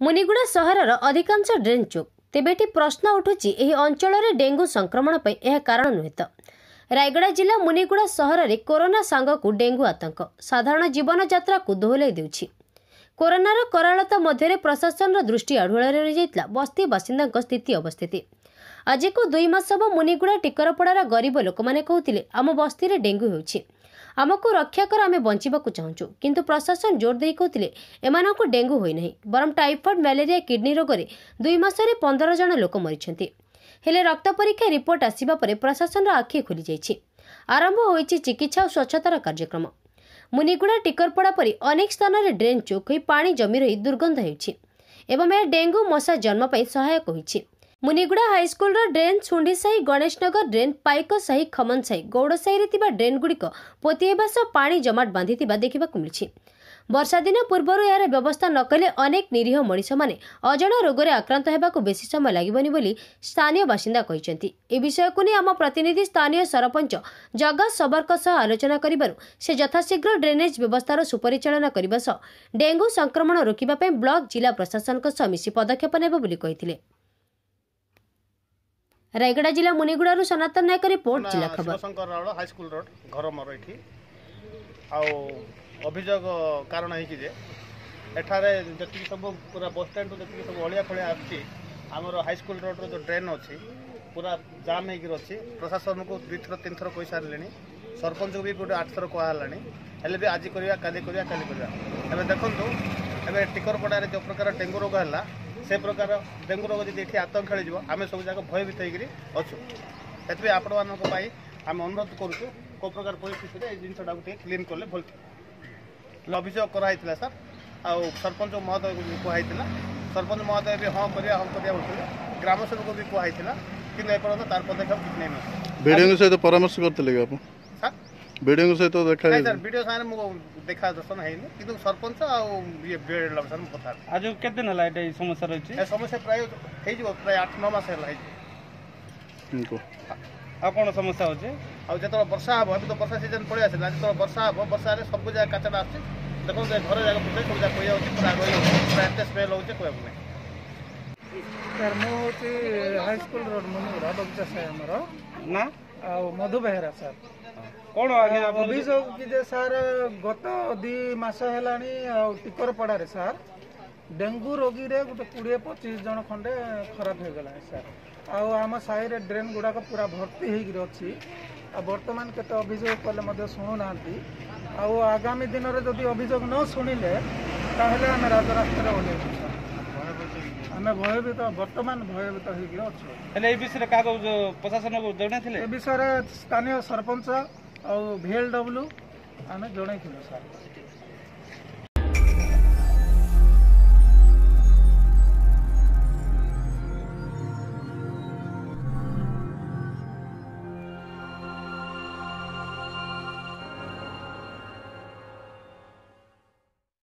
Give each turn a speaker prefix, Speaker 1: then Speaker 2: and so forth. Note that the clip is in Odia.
Speaker 1: ମୁନିଗୁଡ଼ା ସହରର ଅଧିକାଂଶ ଡ୍ରେନ୍ ଚୋକ୍। ତେବେ ଏଠି ପ୍ରଶ୍ନ ଉଠୁଛି, ଏହି ଅଞ୍ଚଳରେ ଡେଙ୍ଗୁ ସଂକ୍ରମଣ ପାଇଁ ଏହା କାରଣ ନୁହେଁ ତ? ରାୟଗଡ଼ା ଜିଲ୍ଲା ମୁନିଗୁଡ଼ା ସହରରେ କରୋନା ସାଙ୍ଗକୁ ଡେଙ୍ଗୁ ଆତଙ୍କ ସାଧାରଣ ଜୀବନଯାତ୍ରାକୁ ଦୋହଲାଇ ଦେଉଛି। କରୋନାର କରାଳତା ମଧ୍ୟରେ ପ୍ରଶାସନର ଦୃଷ୍ଟି ଆଢୁଆଳରେ ରହିଯାଇଥିଲା ବସ୍ତି ବାସିନ୍ଦାଙ୍କ ସ୍ଥିତି ଅବସ୍ଥିତି। ଆଜିକୁ 2 ମାସ ହେବ ମୁନିଗୁଡ଼ା ଟିକରପଡ଼ାର ଗରିବ ଲୋକମାନେ କହୁଥିଲେ, ଆମ ବସ୍ତିରେ ଡେଙ୍ଗୁ ହେଉଛି, ଆମକୁ ରକ୍ଷା କର, ଆମେ ବଞ୍ଚିବାକୁ ଚାହୁଁଛୁ। କିନ୍ତୁ ପ୍ରଶାସନ ଜୋର ଦେଇ କହୁଥିଲେ ଏମାନଙ୍କୁ ଡେଙ୍ଗୁ ହୋଇନାହିଁ, ବରଂ ଟାଇଫଏଡ୍, ମ୍ୟାଲେରିଆ, କିଡନୀ ରୋଗରେ 2 ମାସରେ 15 ଜଣ ଲୋକ ମରିଛନ୍ତି। ହେଲେ ରକ୍ତ ପରୀକ୍ଷା ରିପୋର୍ଟ ଆସିବା ପରେ ପ୍ରଶାସନର ଆଖି ଖୋଲିଯାଇଛି। ଆରମ୍ଭ ହୋଇଛି ଚିକିତ୍ସା ଓ ସ୍ୱଚ୍ଛତାର କାର୍ଯ୍ୟକ୍ରମ। ମୁନିଗୁଡ଼ା, ଟିକରପଡ଼ା ପରି ଅନେକ ସ୍ଥାନରେ ଡ୍ରେନ୍ ଚୋକ୍ ହୋଇ ପାଣି ଜମି ରହି ଦୁର୍ଗନ୍ଧ ହେଉଛି ଏବଂ ଏହା ଡେଙ୍ଗୁ ମଶା ଜନ୍ମ ପାଇଁ ସହାୟକ ହୋଇଛି। ମୁନିଗୁଡ଼ା ହାଇସ୍କୁଲର ଡ୍ରେନ୍, ଶୁଣ୍ଢିସାହି, ଗଣେଶନଗର ଡ୍ରେନ୍, ପାଇକସାହି, ଖମନସାହି, ଗୌଡ଼ସାହିରେ ଥିବା ଡ୍ରେନ୍ଗୁଡ଼ିକ ପୋତି ହେବା ସହ ପାଣି ଜମାଟ ବାନ୍ଧିଥିବା ଦେଖିବାକୁ ମିଳିଛି। ବର୍ଷା ଦିନ ପୂର୍ବରୁ ଏହାର ବ୍ୟବସ୍ଥା ନ କଲେ ଅନେକ ନିରୀହ ମଣିଷମାନେ ଅଜଣା ରୋଗରେ ଆକ୍ରାନ୍ତ ହେବାକୁ ବେଶୀ ସମୟ ଲାଗିବନି ବୋଲି ସ୍ଥାନୀୟ ବାସିନ୍ଦା କହିଛନ୍ତି। ଏ ବିଷୟକୁ ନେଇ ଆମ ପ୍ରତିନିଧି ସ୍ଥାନୀୟ ସରପଞ୍ଚ ଜଗା ଶବରଙ୍କ ସହ ଆଲୋଚନା କରିବାରୁ ସେ ଯଥାଶୀଘ୍ର ଡ୍ରେନେଜ୍ ବ୍ୟବସ୍ଥାର ସୁପରିଚାଳନା କରିବା ସହ ଡେଙ୍ଗୁ ସଂକ୍ରମଣ ରୋକିବା ପାଇଁ ବ୍ଲକ, ଜିଲ୍ଲା ପ୍ରଶାସନଙ୍କ ସହ ମିଶି ପଦକ୍ଷେପ ନେବ ବୋଲି କହିଥିଲେ। ରାୟଗଡ଼ା ଜିଲ୍ଲା ମୁନିଗୁଡ଼ାରୁ ସନାତନ ନାୟକ ରିପୋର୍ଟ, ଜିଲ୍ଲା ଖବର।
Speaker 2: ଶିବଶଙ୍କର ରାଉଳ, ହାଇସ୍କୁଲ ରୋଡ ଘର ମୋର ଏଠି। ଆଉ ଅଭିଯୋଗ କାରଣ ହେଇଛି ଯେ ଏଠାରେ ଯେତିକି ସବୁ ପୁରା ବସଷ୍ଟାଣ୍ଡରୁ ଯେତିକି ସବୁ ଅଳିଆ ଫଳିଆ ଆସୁଛି, ଆମର ହାଇସ୍କୁଲ ରୋଡ଼ର ଯେଉଁ ଡ୍ରେନ୍ ଅଛି ପୁରା ଜାମ୍ ହେଇକି ଅଛି। ପ୍ରଶାସନକୁ 2ଥର 3ଥର କହିସାରିଲେଣି, ସରପଞ୍ଚକୁ ବି ଗୋଟେ 8ଥର କୁହାହେଲାଣି, ହେଲେ ବି ଆଜି କରିବା, କାଲି କରିବା, କାଲି କରିବା। ଏବେ ଦେଖନ୍ତୁ, ଏବେ ଟିକରପଡ଼ାରେ ଯେଉଁ ପ୍ରକାର ଡେଙ୍ଗୁ ରୋଗ ହେଲା, ସେ ପ୍ରକାର ଡେଙ୍ଗୁ ରୋଗ ଯଦି ଏଠି ଆତଙ୍କ ଖେଳିଯିବ, ଆମେ ସବୁ ଯାକ ଭୟଭୀତ ହେଇକିରି ଅଛୁ। ସେଥିପାଇଁ ଆପଣମାନଙ୍କ ପାଇଁ ଆମେ ଅନୁରୋଧ କରୁଛୁ, କେଉଁ ପ୍ରକାର ପରିସ୍ଥିତିରେ ଏଇ ଜିନିଷଟାକୁ ଟିକେ କ୍ଲିନ୍ କଲେ ଭଲ ଥିବ। ଅଭିଯୋଗ କରାହେଇଥିଲା ସାର୍, ଆଉ ସରପଞ୍ଚ ମହୋଦୟକୁ ବି କୁହାହେଇଥିଲା। ସରପଞ୍ଚ ମହୋଦୟ ବି ହଁ କରିବା, ହଁ କରିବା ବୋଲୁଥିଲେ। ଗ୍ରାମ ସେବକ ବି କୁହାହେଇଥିଲା, କିନ୍ତୁ ଏପର୍ଯ୍ୟନ୍ତ ତାର ପଦକ୍ଷେପ କିଛି ନେଇନଥିଲେ।
Speaker 3: ବିଡ଼ିଓଙ୍କ ସହିତ ପରାମର୍ଶ କରିଥିଲେ କି ଆପଣ
Speaker 2: ସାର୍?
Speaker 3: ବିଡ଼ିଓଙ୍କ ସହିତ ଦେଖା?
Speaker 2: ନାଇଁ ସାର୍, ବିଡ଼ିଓ ସାଙ୍ଗରେ ମୁଁ ଦେଖା ଦର୍ଶନ ହେଇନି, କିନ୍ତୁ ସରପଞ୍ଚ ଆଉ ଇଏ ବିଏଡ୍ ସାର୍ ମୁଁ କଥା।
Speaker 4: ଆଜି କେତେ ଦିନ ହେଲା ଏଇଟା ଏଇ ସମସ୍ୟା ରହିଛି?
Speaker 2: ଏ ସମସ୍ୟା ପ୍ରାୟ ହେଇଯିବ, ପ୍ରାୟ 8 9 ମାସ ହେଲା ହେଇଯିବ।
Speaker 4: ଆଉ କ'ଣ ସମସ୍ୟା ହେଉଛି?
Speaker 2: ଆଉ ଯେତେବେଳେ ବର୍ଷା ହେବ, ଏବେ ତ ବର୍ଷା ସିଜନ୍ ପଳେଇ ଆସିଲା, ଯେତେବେଳେ ବର୍ଷା ହେବ, ବର୍ଷାରେ ସବୁ ଜାଗା କାଚଟା ଆସୁଛି। ଦେଖନ୍ତୁ, ଏ ଘର ଜାଗା ପୁରା ସବୁ ଜାଗା ପଡ଼ିଯାଉଛି, ପୁରା ରହିଯାଉଛି, ପୁରା ଏତେ ସ୍ମେଲ୍ ହେଉଛି କହିବାକୁ ନାହିଁ।
Speaker 5: ସାର୍, ମୁଁ ହେଉଛି ହାଇସ୍କୁଲ ରୋଡ ମୁନିଗୁଡ଼ା, ବଗିଚା ସାହି ଆମର।
Speaker 4: ନା
Speaker 5: ଆଉ ମଧୁ ବେହେରା ସାର୍।
Speaker 4: କ'ଣ ଆଜ୍ଞା
Speaker 5: ଅଭିଯୋଗ କି ଯେ ସାର୍, ଗତ 2 ମାସ ହେଲାଣି ଆଉ ଟିକରପଡ଼ାରେ ସାର୍ ଡେଙ୍ଗୁ ରୋଗୀରେ ଗୋଟେ 20 25 ଜଣ ଖଣ୍ଡେ ଖରାପ ହେଇଗଲାଣି ସାର୍। ଆଉ ଆମ ସାହିରେ ଡ୍ରେନ୍ ଗୁଡ଼ାକ ପୁରା ଭର୍ତ୍ତି ହେଇକିରି ଅଛି। ଆଉ ବର୍ତ୍ତମାନ କେତେ ଅଭିଯୋଗ କଲେ ମଧ୍ୟ ଶୁଣୁନାହାନ୍ତି। ଆଉ ଆଗାମୀ ଦିନରେ ଯଦି ଅଭିଯୋଗ ନ ଶୁଣିଲେ, ତାହେଲେ ଆମେ ରାଜରାସ୍ତାରେ ଓହ୍ଲେଇବୁ ସାର୍। ଆମେ ଭୟଭୀତ, ବର୍ତ୍ତମାନ ଭୟଭୀତ ହେଇକି ଅଛୁ।
Speaker 4: ହେଲେ ଏଇ ବିଷୟରେ କାହାକୁ ପ୍ରଶାସନକୁ ଜଣେଇଥିଲେ?
Speaker 5: ଏ ବିଷୟରେ ସ୍ଥାନୀୟ ସରପଞ୍ଚ ଆଉ ଭିଏଲ୍ ଡବ୍ଲ୍ୟୁ ଆମେ ଜଣେଇଥିଲୁ ସାର୍।